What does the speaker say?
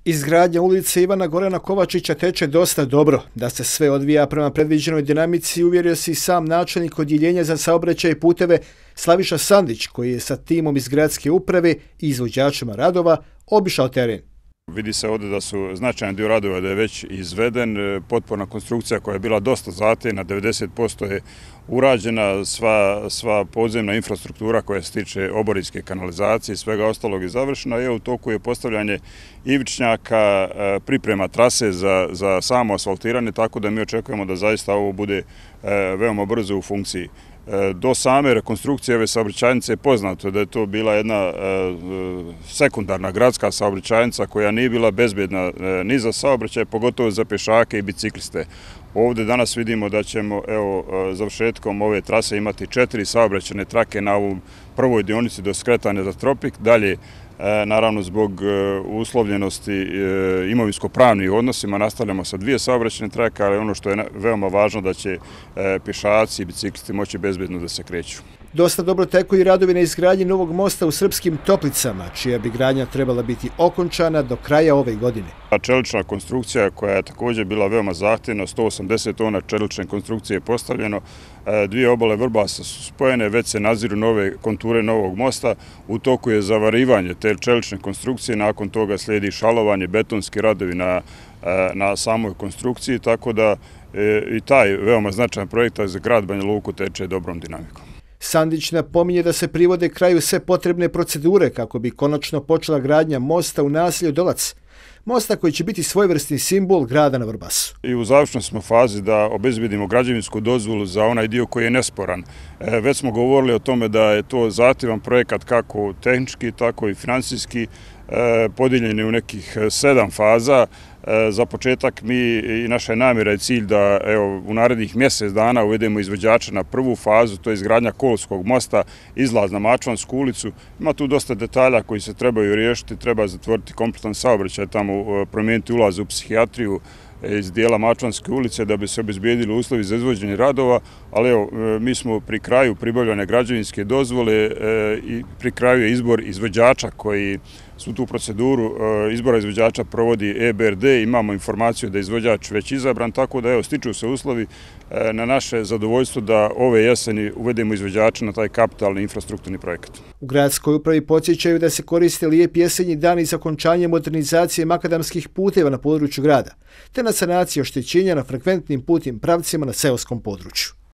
Izgradnja ulice Ivana Gorana Kovačića teče dosta dobro. Da se sve odvija prema predviđenoj dinamici uvjerio se i sam načelnik odjeljenja za saobraćaj i puteve Slaviša Sandić, koji je sa timom iz gradske uprave i izvođačima radova obišao teren. Vidi se ovdje da su značajan dio radova da je već izveden, potporna konstrukcija koja je bila dosta zahtjevna, 90% je urađena, sva podzemna infrastruktura koja se tiče oborinske kanalizacije i svega ostalog je završena i u toku je postavljanje ivičnjaka, priprema trase za samo asfaltiranje, tako da mi očekujemo da zaista ovo bude veoma brzo u funkciji. Do same rekonstrukcije ove saobraćajnice je poznato da je to bila jedna sekundarna gradska saobraćajnica koja nije bila bezbjedna ni za saobraćaj, pogotovo za pješake i bicikliste. Ovdje danas vidimo da ćemo završetkom ove trase imati 4 saobraćajne trake na ovom prvoj dionici do skretanja za Tropik. Dalje, naravno zbog uslovljenosti imovinsko-pravnih odnosima nastavljamo sa 2 saobraćajne trake, ali ono što je veoma važno da će pješaci i biciklisti moći bezbjedno da se kreću. Dosta dobro teku i radovi na izgradnji novog mosta u Srpskim Toplicama, čija bi gradnja trebala biti okončana do kraja ove godine. Čelična konstrukcija koja je također bila veoma zahtjevna, 180 tona čelične konstrukcije je postavljeno, 2 obale Vrbasa su spojene, već se naziru nove konture novog mosta, u toku je zavarivanje te čelične konstrukcije, nakon toga slijedi šalovanje, betonski radovi na samoj konstrukciji, tako da i taj veoma značajan projekt za grad Banja Luku teče dobrom dinamikom. Sandić napominje da se privode kraju sve potrebne procedure kako bi konačno počela gradnja mosta u naselju Dolac. Mosta koji će biti svojevrsni simbol grada na Vrbasu. I u završnoj smo fazi da obezbedimo građevinsku dozvolu za onaj dio koji je nesporan. Već smo govorili o tome da je to zahtjevan projekat kako tehnički, tako i finansijski, podijeljen je u nekih 7 faza. Za početak mi i naša namjera je cilj da u narednih mjesec dana uvedemo izvođača na prvu fazu, to je izgradnja Kolskog mosta, izlaz na Mačvansku ulicu. Ima tu dosta detalja koji se trebaju riješiti, treba zatvoriti kompletan saobraćaj, tamo promijeniti ulaz u psihijatriju iz dijela Mačvanske ulice da bi se obezbijedili uslovi za izvođenje radova, ali mi smo pri kraju pribavljanja građevinske dozvole i pri kraju je izbor izvođača koji su tu proceduru izbora izvođača provodi EBRD, imamo informaciju da je izvođač već izabran, tako da stiču se uslovi na naše zadovoljstvo da ove jeseni uvedemo izvođača na taj kapitalni infrastrukturni projekat. U gradskoj upravi podsjećaju da se koriste lijepi jesenji dani za okončanje modernizacije makadamskih puteva na području grada, te na sanaciji oštećenja na frekventnim putnim pravcima na seoskom području.